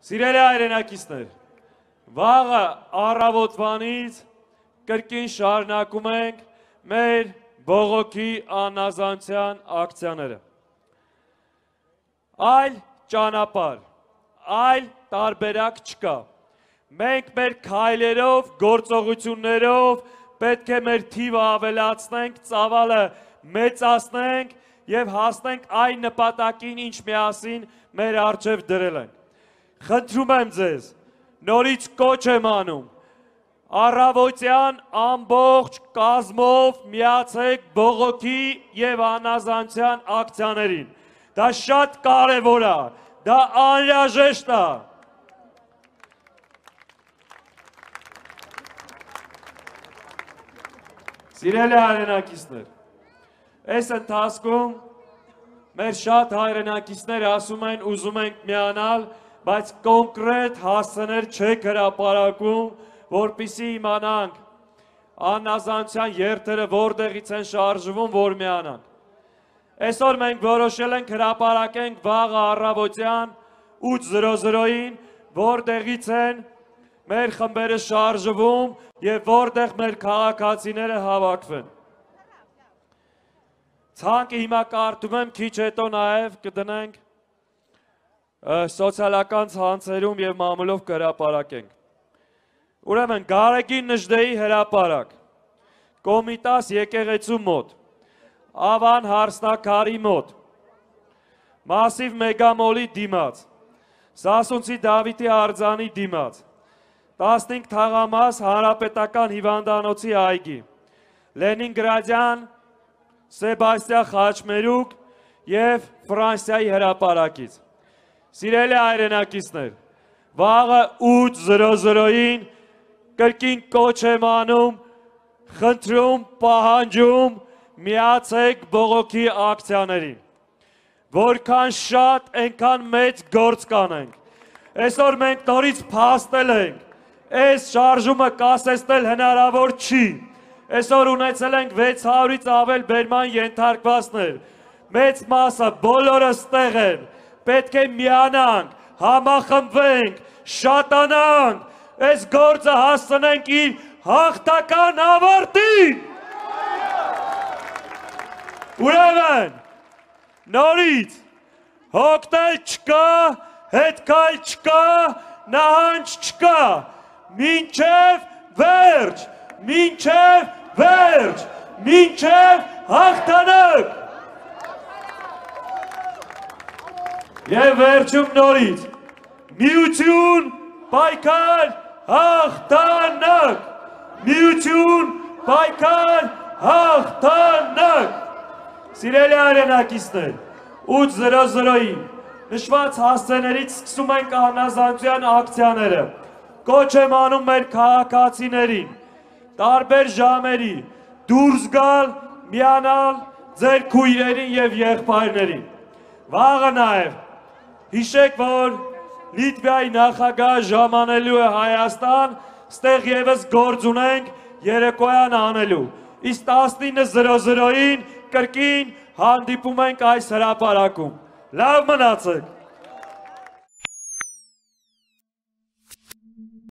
Սիրելի հայրենակիցներ, վաղը առավոտվանից կրկին շարունակում ենք մեր բողոքի անազանցյան ակցիաները։ Այլ ճանապարհ, այլ տարբերակ չկա։ Մենք մեր քայլերով, գործողություններով պետք է մեր թիվը ավելացնենք, ծավալը մեծացնենք եւ հասնենք այն նպատակին, ինչ միասին մեր առջև դրել ենք։ Խնդրում եմ ձեզ, նորից կոչ եմ անում, առավոտյան ամբողջ կազմով միացեք բողոքի եւ անազանցյան ակցիաներին։ Դա շատ կարևոր է, դա անհրաժեշտ է։ Սիրելի հայրենակիցներ, այս ընթացքում մեր շատ հայրենակիցներ ասում են ուզում ենք միանալ, բայց կոնկրետ հասցեներ չեք հրապարակում, որպեսզի իմանանք անազանցյան երթերը որտեղից են շարժվում, որ միանանք։ Այսօր մենք որոշել ենք հրապարակենք վաղը առավոտյան 8:00-ին, որտեղից են մեր խմբերը շարժվում եւ որտեղ մեր քաղաքացիները հավաքվեն։ Ցանկը հիմա կարդում եմ, քիչ հետո նաեւ կդնենք սոցիալական ցանցերում եւ մամուլով կհրապարակենք։ Ուրեմն Գարեգին Նժդեի հրապարակ, Կոմիտաս եկեղեցու մոտ, Ավան հարսնակարի մոտ, Մասիվ Մեգամոլի դիմաց, Սասունցի Դավիթի արձանի դիմաց, 15 թաղամաս հանրապետական հիվանդանոցի այգի, Լենինգրադյան Սեբաստիա Խաչմերուկ եւ Ֆրանսիայի հրապարակից։ Սիրելի հայրենակիցներ, վաղը 8:00-ին կրկին կոչ եմ անում, խնդրում, պահանջում, միացեք բողոքի ակցիաներին։ Որքան շատ, այնքան մեծ գործ կանենք։ Այսօր մենք նորից փաստել ենք, այս շարժումը կասեցնել հնարավոր չի։ Այսօր ունեցել ենք 600-ից ավել բերման ենթարկվածներ։ Մեծ մասը բոլորը ստեղ են։ Պետք է միանանք, համախմբվենք, շատանանք, այս գործը հասցնենք իր հաղթական ավարտին։ Ուրեմն, նորից, հոգնել չկա, հետքայլ չկա, նահանջ չկա, մինչև վերջ, մինչև վերջ, մինչև հաղթանակ։ Եվ վերջում նորից, միություն, պայքար, հաղթանակ, միություն, պայքար, հաղթանակ։ Սիրելի հայրենակիցներ, 8:00-ին նշված հասցեներից սկսում ենք անազանցյան ակցիաները, կոչ եմ անում մեր քաղաքացիներին, տարբեր ժամերի, դուրս գալ, միանալ ձեր քույրերին եւ եղբայրներին։ Վաղը նաեւ հիշեք, որ Լիտվայի նախագահ ժամանելու է Հայաստան, ստեղ եւս գործ ունենք երեկոյան անելու։ Իսկ 19:00-ին կրկին հանդիպում ենք այս հրապարակում։ Լավ մնացեք։